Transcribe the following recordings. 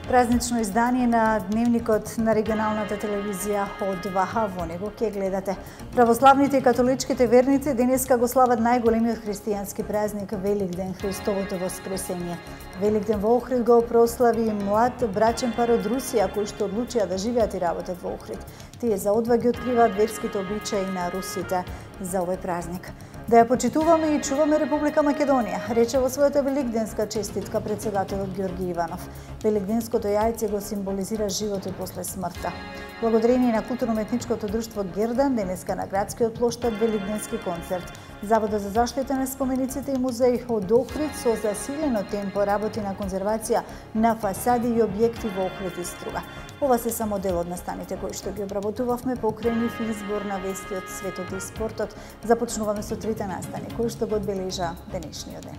Празнично издание на дневникот на регионалната телевизија Од2Х. Во него ќе гледате. Православните и католичките верници денеска го слават најголемиот христијански празник Великден, Христовото воскресение. Великден во Охрид го прослави млад брачен пар од Русија кои што одлучија да живеат и работат во Охрид. Тие за одва ги откриваат верските обичаи на русите за овој празник. Да ја почитуваме и чуваме Република Македонија, рече во својата великденска честитка председателот Ѓорги Иванов. Великденското јајце го символизира животот после смртта. Благодарение на културно-уметничкото друштво Гердан, денеска на градскиот плоштад великденски концерт. Заводот за заштита на спомениците и музеи од Охрид со засилено темпо работи на конзервација на фасади и објекти во Охрид и Струга. Ова се само дел од настаните кои што ги обработувавме покрај нив избор на вести од светот и спортот. Започнуваме со трите настани кои што го одбележа денешниот ден.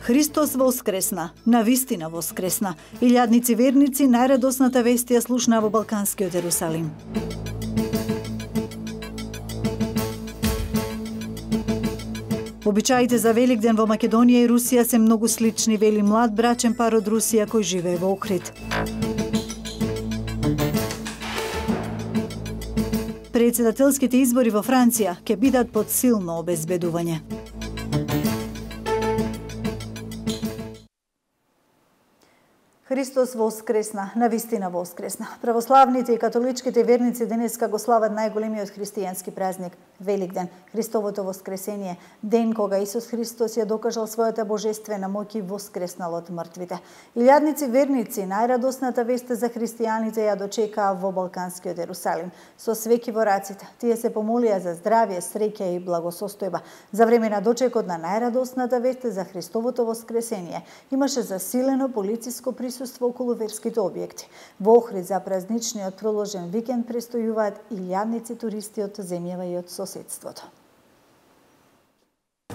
Христос воскресна, навистина воскресна. Илјадници верници најрадосната вест ја слушна во Балканскиот Ерусалим. Обичаите за Великден во Македонија и Русија се многу слични, вели млад брачен пар од Русија кој живее во Охрид. Председателските избори во Франција ќе бидат под силно обезбедување. Христос воскресна, навистина воскресна. Православните и католичките верници денеска го слават најголемиот христијански празник Великден, Христовото воскресение, ден кога Исус Христос ја докажал својата божествена моќ и воскреснал од мртвите. Илјадници верници најрадосната вест за христијаните ја дочекаа во Балканскиот Ерусалим. Со свеки во раците, тие се помолија за здравје, среќа и благосостојба. За време на дочекот на најрадосната вест за Христовото воскресение имаше засилено полициско присуство околу верските објекти. Во Охрид за празничниот проложен викенд престојуваат илјадници туристи од земјава и од соседството.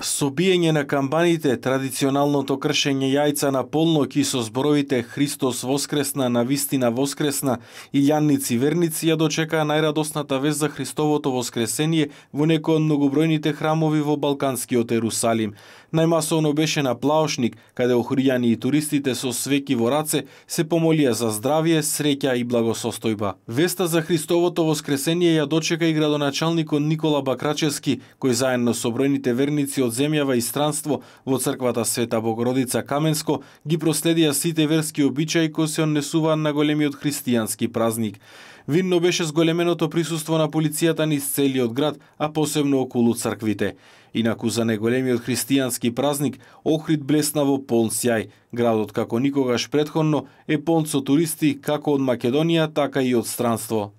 Со биење на камбаните, традиционалното кршење јајца на полноќ и со зборовите Христос воскресна, навистина воскресна, илјадници верници ја дочекаа најрадосната вест за Христовото воскресение во некои од многобројните храмови во Балканскиот Ерусалим. Најмасовно беше на Плаошник, каде охријани и туристите со свеки во раце се помолија за здравје, среќа и благосостојба. Веста за Христовото воскресение ја дочека и градоначалникот Никола Бакрачевски, кој заедно со бројните верници од земјава и странство во црквата Света Богородица Каменско ги проследија сите верски обичаи кои се однесуваат на големиот христијански празник. Видно беше зголеменото присуство на полицијата низ целиот град, а посебно околу црквите. Инаку за неголемиот христијански празник Охрид блесна во полн сјај. Градот како никогаш претходно е полн со туристи како од Македонија, така и од странство.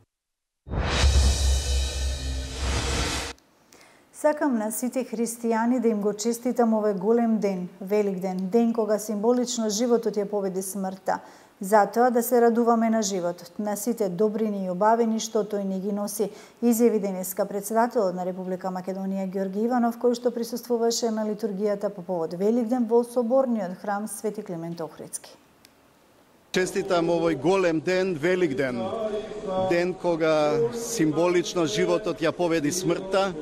Сакам на сите христијани да им го честитам овој голем ден, Великден, ден кога символично животот ја победи смртта. Затоа да се радуваме на животот, на сите добрини и убавини што тој ни ги носи, изјави денеска председателот на Република Македонија Ѓорги Иванов, кој што присуствуваше на литургијата по повод Великден во соборниот храм Свети Климент Охридски. Честитам овој голем ден, Великден, ден кога символично животот ја победи смртта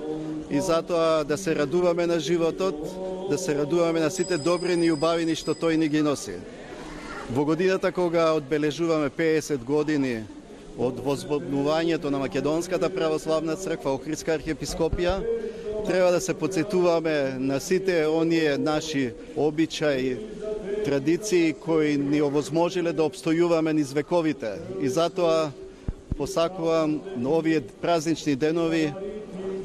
и затоа да се радуваме на животот, да се радуваме на сите добрини и убавини што тој ни ги носи. Во годината кога одбележуваме 50 години од возбудувањето на Македонската православна црква, Охридска архиепископија, треба да се потсетуваме на сите оние наши обичаи, традиции кои ни овозможиле да обстојуваме низ вековите. И затоа посакувам на овие празнични денови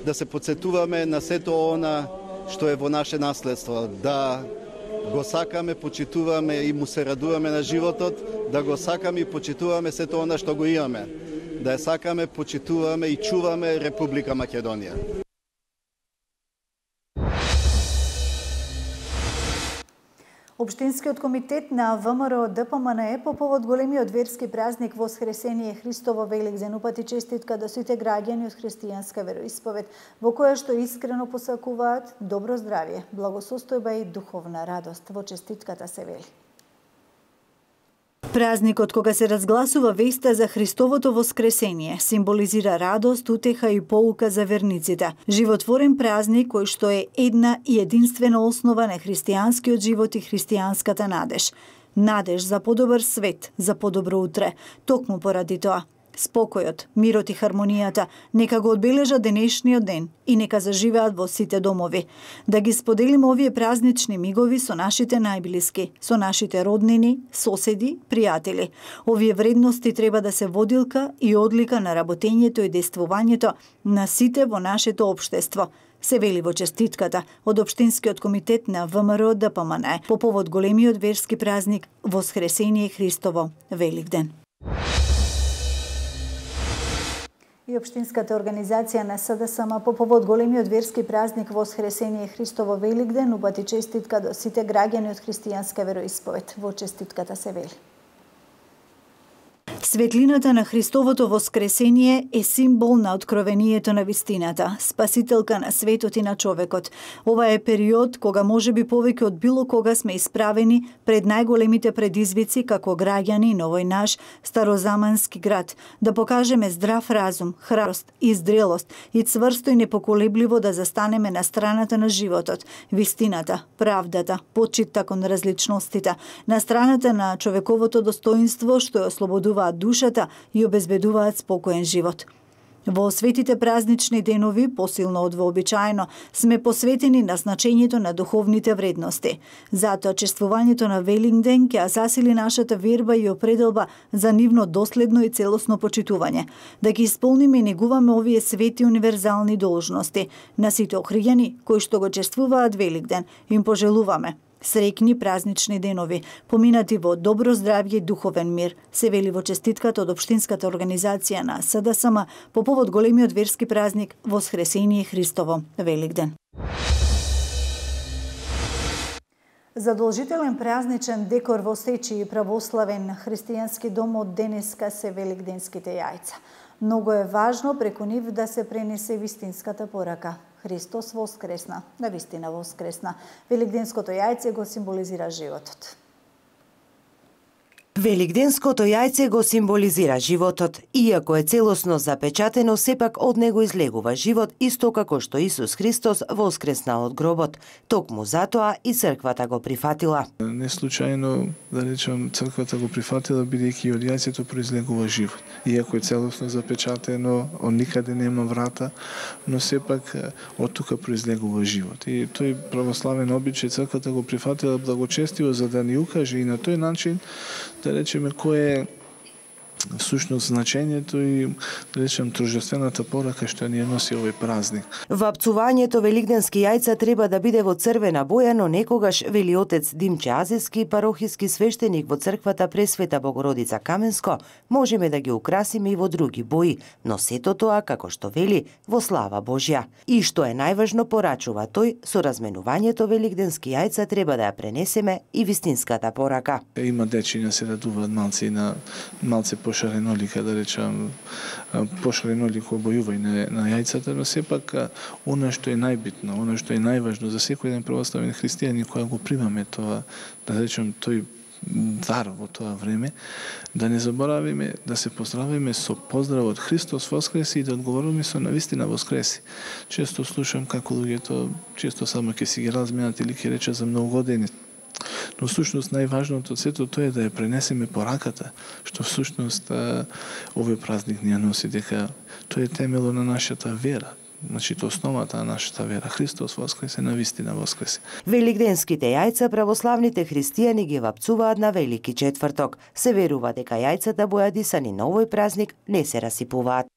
да се потсетуваме на сето она што е во наше наследство, да го сакаме, почитуваме и му се радуваме на животот, да го сакаме и почитуваме сето она што го имаме, да ја сакаме, почитуваме и чуваме Република Македонија. Општинскиот комитет на ВМРО ДПМНЕ по повод големиот верски празник Воскресение Христово Великден упати честитка до сите граѓани од христијанска вероисповед, во која што искрено посакуваат добро здравје, благосостојба и духовна радост. Во честитката се вели: Празникот кога се разгласува веста за Христовото воскресение символизира радост, утеха и поука за верниците. Животворен празник кој што е една и единствена основа на христијанскиот живот и христијанската надеж. надеж за подобар свет, за подобро утре. Токму поради тоа, спокојот, мирот и хармонијата нека го одбележат денешниот ден и нека заживеат во сите домови. Да ги споделиме овие празнични мигови со нашите најблиски, со нашите роднини, соседи, пријатели. Овие вредности треба да се водилка и одлика на работењето и действувањето на сите во нашето општество. Се вели во честитката од Општинскиот комитет на ВМРО ДПМН по повод големиот верски празник Воскресение Христово, Великден. И Општинската организација на СДСМ по повод големиот верски празник Воскресение Христово, Великден упати честитка до сите граѓани од христијанска вероисповед. Во честитката се вели: светлината на Христовото воскресение е символ на откровението на вистината, спасителка на светот и на човекот. Ова е период кога можеби повеќе од било кога сме исправени пред најголемите предизвици како граѓани на овој наш старозамански град, да покажеме здрав разум, храброст и зрелост и цврсто и непоколебливо да застанеме на страната на животот, вистината, правдата, почитта кон различностите, на страната на човековото достоинство што ја ослободуваат душата и обезбедуваат спокоен живот. Во светите празнични денови, посилно од вообичаено, сме посветени на значењето на духовните вредности. Затоа чествувањето на Великден ќе засили нашата верба и определба за нивно доследно и целосно почитување. Да ги исполниме и негуваме овие свети универзални должности. На сите охријани кои што го чествуваат Великден, им пожелуваме среќни празнични денови, поминати во добро здравје и духовен мир, се вели во честитката од Општинската организација на СДСМ по повод големиот верски празник Воскресение Христово, Великден. Задолжителен празничен декор во Сечи и православен христијански дом од денеска се великденските јајца. Многу е важно преку нив да се пренесе вистинската порака. Христос воскресна, навистина воскресна. Великденското јајце го символизира животот. Великденското јајце го символизира животот. Иако е целосно запечатено, сепак од него излегува живот, исто како што Исус Христос воскреснал од гробот. Токму затоа и црквата го прифатила. Не случајно, да речем, црквата го прифатила, бидејќи од јајцето произлегува живот. Иако е целосно запечатено, од никаде нема врата, но сепак од тука произлегува живот. И тој православен обичај црквата го прифатила благочестиво за да ни укаже и на тој начин да речеме кој е всушност значењето и да речем торжествената порака што ни ја носи овој празник. Вапцувањето великденски јајца треба да биде во црвена боја, но некогаш, вели отец Димче Азевски, парохиски свештеник во црквата Пресвета Богородица Каменско, можеме да ги украсиме и во други бои, но сето тоа, како што вели, во слава Божја. И што е најважно, порачува тој, со разменувањето великденски јајца треба да ја пренесеме и вистинската порака. Има дечиња се радуваат малци на малце пошаренолика, да речам, пошаренолико обојување на јајцата, но сепак она што е најбитно, она што е најважно за секој еден православен христијанин кога го примаме тоа, да речем, тој дар во тоа време, да не заборавиме да се поздравиме со поздравот Христос воскреси и да одговориме со навистина воскреси. Често слушам како луѓето често само ќе си ги разменат или ќе речат за многу години. Но всушност најважното од сето тоа е да ја пренесеме пораката, што всушност овој празник ни ја носи, дека тоа е темело на нашата вера. Значи, тоа основата на нашата вера. Христос воскресе, навистина воскресе. Великденските јајца православните христијани ги вапцуваат на Велики четврток. Се верува дека јајцата бојадисани на овој празник не се расипуваат.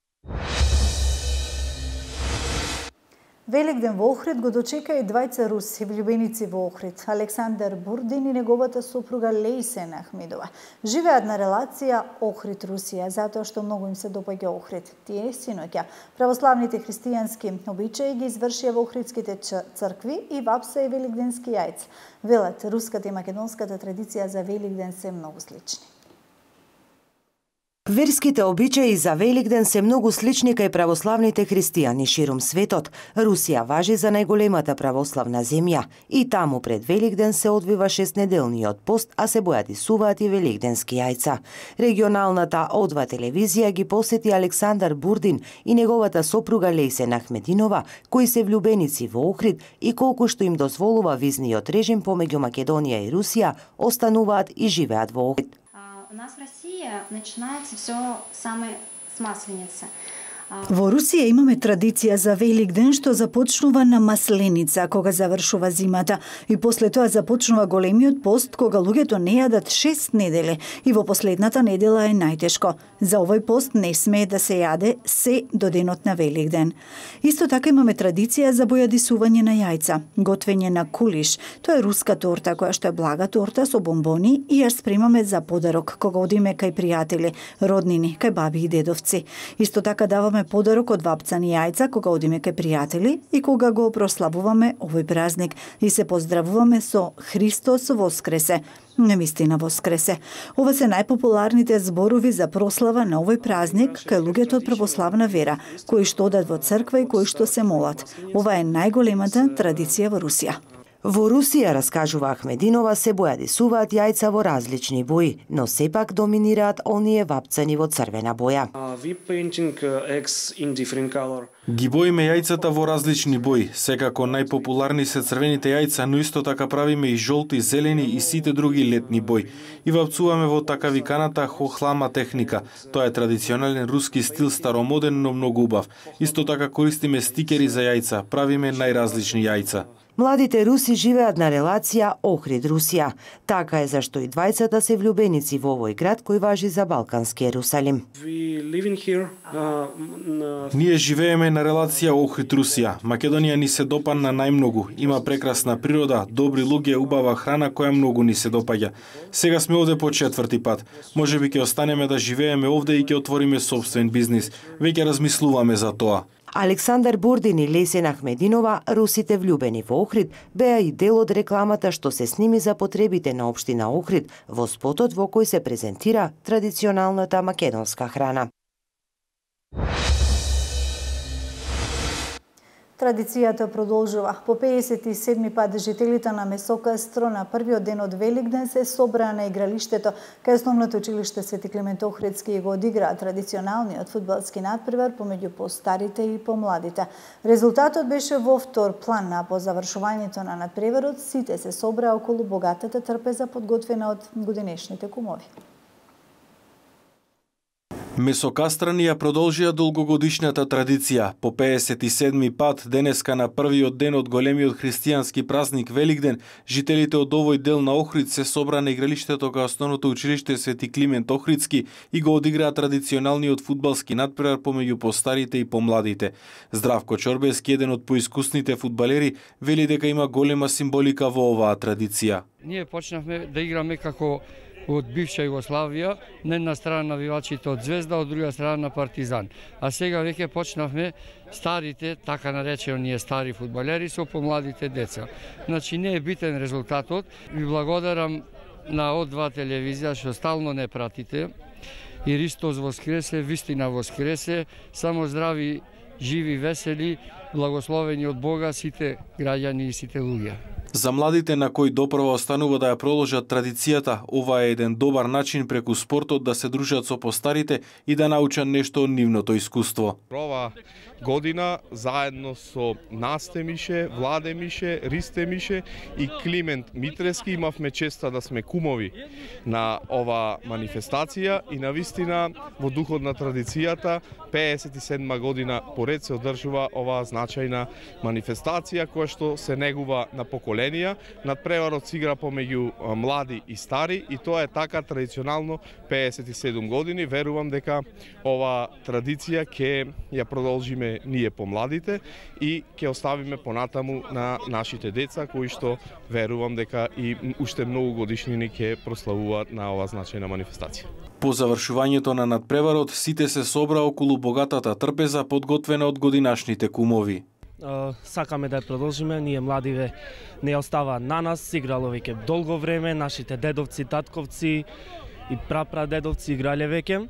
Великден во Охрид го дочека и двајца руси влюбеници во Охрид, Александар Бурдин и неговата сопруга Лейсен Ахмидова. Живеат на релација Охрид-Русија, затоа што многу им се допаѓа Охрид. Тие синоќа православните христијански обичаи ги извршија во охридските цркви и вапса и великденски јајца. Велат, руската и македонската традиција за Великден се многу слични. Верските обичаи за Великден се многу слични кај православните христијани ширум светот. Русија важи за најголемата православна земја и таму пред Великден се одвива 6-неделниот пост, а се бојадисуваат и великденски јајца. Регионалната О2 телевизија ги посети Александар Бурдин и неговата сопруга Лейсен Ахмединова, кои се влюбеници во Охрид и колку што им дозволува визниот режим помеѓу Македонија и Русија, остануваат и живеат во Охрид. У нас в России начинается все самое с Масленицы. Во Русија имаме традиција за Великден што започнува на Масленица, кога завршува зимата, и после тоа започнува големиот пост, кога луѓето не јадат 6 недели и во последната недела е најтешко. За овој пост не смее да се јаде се до денот на Великден. Исто така имаме традиција за бојадисување на јајца, готвење на кулиш. Тоа е руска торта која што е блага торта со бомбони и ја спремаме за подарок кога одиме кај пријатели, роднини, кај баби и дедовци. Исто така даваме подарок од вапцани јајца кога одиме кај пријатели и кога го прославуваме овој празник и се поздравуваме со Христос воскресе. Навистина воскресе. Ова се најпопуларните зборови за прослава на овој празник кај луѓето од православна вера, кои што одат во црква и кои што се молат. Ова е најголемата традиција во Русија. Во Русија, раскажува Ахмединова, се бојадисуваат јајца во различни бои, но сепак доминираат оние вапцани во црвена боја. Ги боиме јајцата во различни бои. Секако најпопуларни се црвените јајца, но исто така правиме и жолти, зелени и сите други летни бои. И вапцуваме во така виканата хохлама техника. Тоа е традиционален руски стил, старомоден, но многу убав. Исто така користиме стикери за јајца, правиме најразлични јајца. Младите руси живеат на релација Охрид-Русија. Така е зашто и двајцата се влюбеници во овој град кој важи за балкански Ерусалим. Ние живееме на релација Охрид-Русија. Македонија ни се допадна најмногу. Има прекрасна природа, добри луѓе, убава храна која многу ни се допаѓа. Сега сме овде по 4-ти пат. Можеби ќе останеме да живееме овде и ќе отвориме сопствен бизнис. Веќе размислуваме за тоа. Александар Бурдин и Лесен Ахмединова, русите влюбени во Охрид, беа и дел од рекламата што се сними за потребите на општина Охрид во спотот во кој се презентира традиционалната македонска храна. Традицијата продолжува. По 57 пат жителите на Месокастро на првиот ден од Великден се собраа на игралиштето кај основното училиште Свети Климент Охридски и го одиграа традиционалниот фудбалски надпревар помеѓу постарите и помладите. Резултатот беше во втор план, а по завршувањето на надпреварот сите се собраа околу богатата трпеза подготвена од годинешните кумови. Месокастрани ја продолжија долгогодишната традиција. По 57 пат денеска на првиот ден од големиот христијански празник Великден, жителите од овој дел на Охрид се собра на игралиштето кај основното училиште Свети Климент Охридски и го одиграа традиционалниот фудбалски надпревар помеѓу постарите и помладите. Здравко Чорбески, еден од поискусните фудбалери, вели дека има голема символика во оваа традиција. Ние почнавме да играме како од бивша Југославија, на една страна навивачите од Звезда, од друга страна на Партизан. А сега веќе почнавме старите, така наречени ние стари фудбалери, со помладите деца. Значи не е битен резултатот. Ви благодарам на О2 телевизија што стално не пратите. И Христос воскресе, вистина воскресе, само здрави, живи, весели, благословени од Бога сите граѓани и сите луѓе. За младите на кои допрва останува да ја продолжат традицијата, ова е еден добар начин преку спортот да се дружат со постарите и да научат нешто од нивното искуство. Ова година заедно со Насте Мише, Владе Мише, Ристе Мише и Климент Митрески имавме честа да сме кумови на ова манифестација и навистина во духот на традицијата 57 година поред се одржува оваа значајна манифестација која што се негува на поколенија. Надпреварот се игра помеѓу млади и стари и тоа е така традиционално 57 години. Верувам дека ова традиција ќе ја продолжиме ние помладите и ќе оставиме понатаму на нашите деца кои што верувам дека и уште многу годишнини ќе прославуваат на оваа значајна манифестација. По завршувањето на надпреварот сите се собра околу богатата трпеза подготвена од годинашните кумови. Сакаме да ја продолжиме, ние младиве не остава на нас, играло веќе долго време, нашите дедовци, татковци и прапрадедовци играле веќе.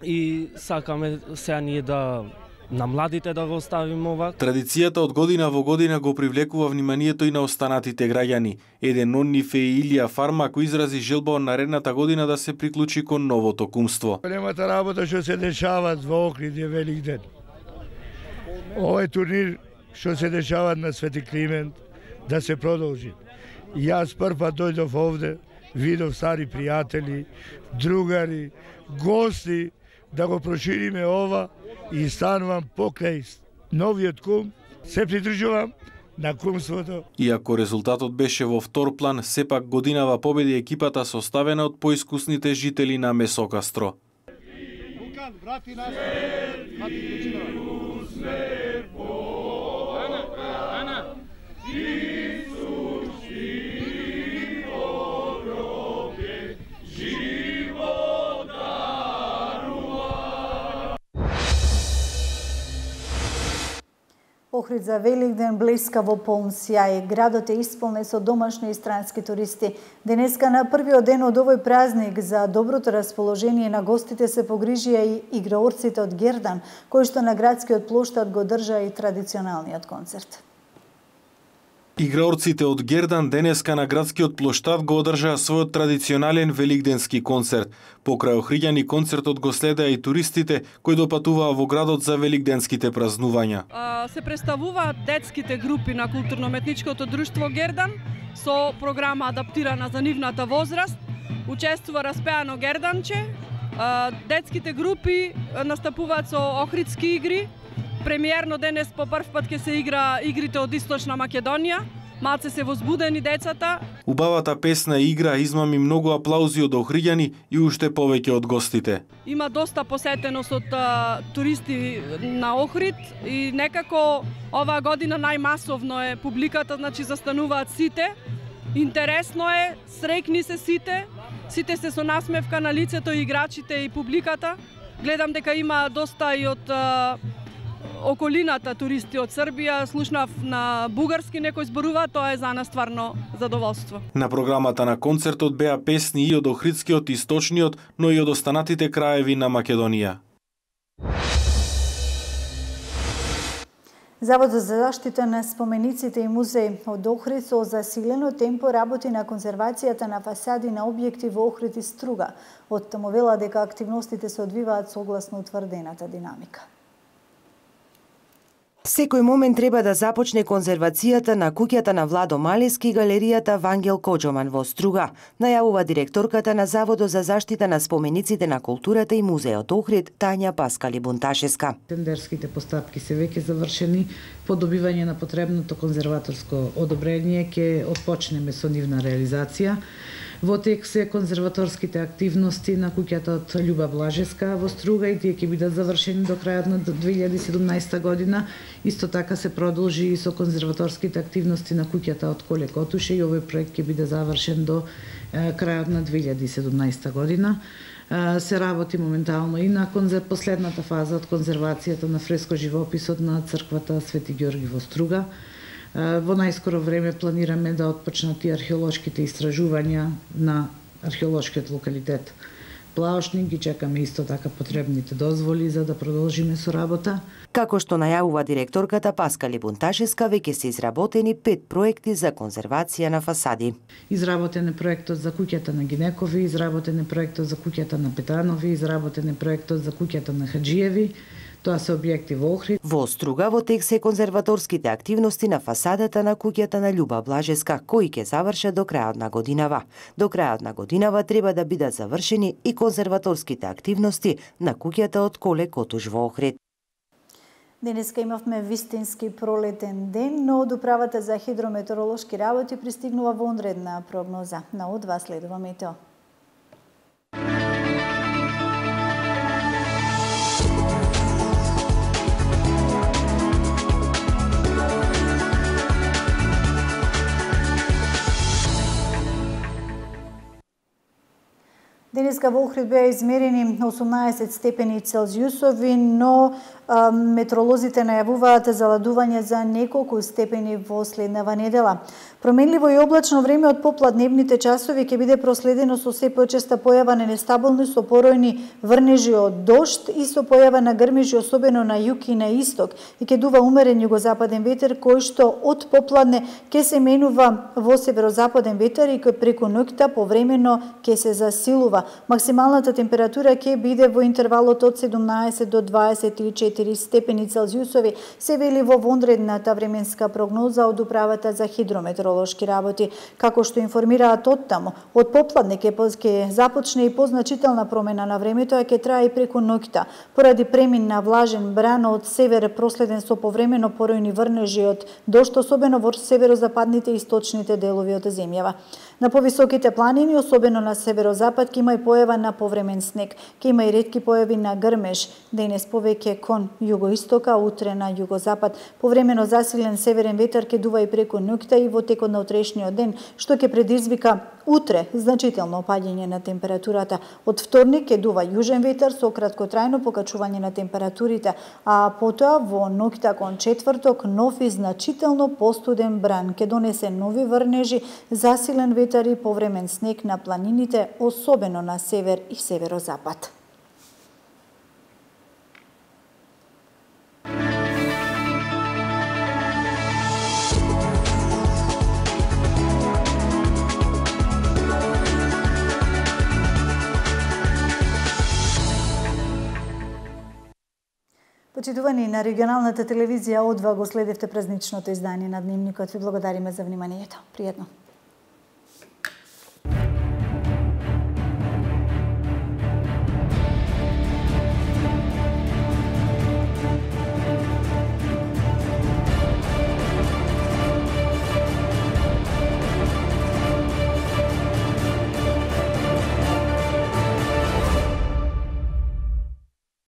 и сакаме сега ние да на младите да го оставиме ова. Традицијата од година во година го привлекува вниманието и на останатите граѓани. Еден од нив е Илија Фарма, кој изрази желба од наредната година да се приклучи кон новото кумство. Големата работа што се дешава во Охрид е Великден. Овој турнир што се дешава на Свети Климент да се продолжи. Јас прв дојдов овде, видов стари пријатели, другари, гости, да го прошириме ова и станувам покрај новиот кум, се придружувам на кумството. Иако резултатот беше во втор план, сепак годинава победи екипата составена од поискусните жители на Месокастро. Охрид за Великден блеска во полн сјај. Градот е исполнет со домашни и странски туристи. Денеска на првиот ден од овој празник за доброто расположение на гостите се погрижија и играорците од Гердан, кои што на градскиот плоштад го држа и традиционалниот концерт. Играорците од Гердан денеска на градскиот плоштад го одржаа својот традиционален великденски концерт. Покрај охриѓани концертот го следеа и туристите кои допатуваа во градот за великденските празнувања. Се представуваат детските групи на културно-уметничкото друштво Гердан со програма адаптирана за нивната возраст. Учествува распеано герданче. Детските групи настапуваат со охридски игри. Премиерно денес по прв пат ќе се игра игрите од Источна Македонија. Малце се возбудени децата. Убавата песна и игра измами многу аплаузи од охриѓани и уште повеќе од гостите. Има доста посетеност од туристи на Охрид и некако оваа година најмасовно е публиката, значи застануваат сите. Интересно е, среќни се сите. Сите се со насмевка на лицето, и играчите и публиката. Гледам дека има доста и од околината туристи од Србија, слушнав на бугарски некој зборува, тоа е за нас стварно задоволство. На програмата на концертот беа песни и од охридскиот, источниот, но и од останатите краеви на Македонија. Заводот за заштита на спомениците и музеи од Охрид со засилено темпо работи на конзервацијата на фасади на објекти во Охрид и Струга. Од таму вела дека активностите се одвиваат согласно утврдената динамика. Секој момент треба да започне конзервацијата на куќата на Владо Малески и галеријата Вангел Коџоман во Струга, најавува директорката на Заводот за заштита на спомениците на културата и музеот Охрид, Тања Паскали Бунташеска. Тендерските постапки се веќе завршени, по добивање на потребното конзерваторско одобрение ќе отпочнеме со нивна реализација. Во тек се конзерваторските активности на куќата од Љуба Блажеска во Струга и тие ќе бидат завршени до крајот на 2017 година. Исто така се продолжи и со конзерваторските активности на куќата од Коле Котуше и овој проект ќе биде завршен до крајот на 2017 година. Се работи моментално и на последната фаза од конзервацијата на фреско живописот на црквата Свети Ѓорги во Струга. Во најскоро време планираме да отпочнат и археолошките истражувања на археолошкиот локалитет Плаошник. Ги чекаме исто така потребните дозволи за да продолжиме со работа. Како што најавува директорката Паскали Бунташеска, веќе се изработени 5 проекти за конзервација на фасади. Изработен е проектот за куќата на Гинекови, изработен е проектот за куќата на Петранови, изработен е проектот за куќата на Хаджиеви. Тоа се објекти во Охрид. Во Струга во тек се конзерваторските активности на фасадата на куќата на Љуба Блажеска, кои ќе завршат до крајот на годинава. До крајот на годинава треба да бидат завршени и конзерваторските активности на куќата од Коле Котуш во Охрид. Денеска имавме вистински пролетен ден, но од Управата за хидрометеоролошки работи пристигнува вонредна прогноза. На одва следува метео. Денеска денеска во Охрид беа измерени 18 степени Целзиусови, но метеоролозите најавуваат заладување за неколку степени во следнава недела. Променливо и облачно време од попладневните часови ќе биде проследено со се почеста појава на нестабилни со поројни врнежи од дожд и со појава на грмежи особено на југ и на исток и ќе дува умерен југозападен ветер кој што од попладне ќе се менува во северозападен ветер и кој преку ноќта повремено ќе се засилува. Максималната температура ќе биде во интервалот од 17 до 24 степени Целзиусови, се вели во вонредната временска прогноза од Управата за хидрометеоролошки работи. Како што информираат оттаму, од попладне ќе започне и позначителна промена на времето, а ќе трае и преку ноќта, поради премин на влажен бран од север проследен со повремено поројни врнежи од дожд, особено во северозападните и источните делови од земјава. На повисоките планини, особено на северозапад, ќе има и појава на повремен снег. Ќе има и ретки појави на грмеж, денес повеќе кон југоистока, утре на југозапад. Повремено засилен северен ветер ќе дува и преку ноќта и во текот на утрешниот ден, што ќе предизвика утре значително опаѓање на температурата. Од вторник ќе дува јужен ветер со краткотрајно покачување на температурите, а потоа во ноќта кон четврток нов и значително постуден бран ќе донесе нови врнежи, засилен ветер и повремен снег на планините, особено на север и северозапад. Почитувани на регионалната телевизија, одва го следевте празничното издание на Дневникот. Ви благодариме за вниманието. Пријатно.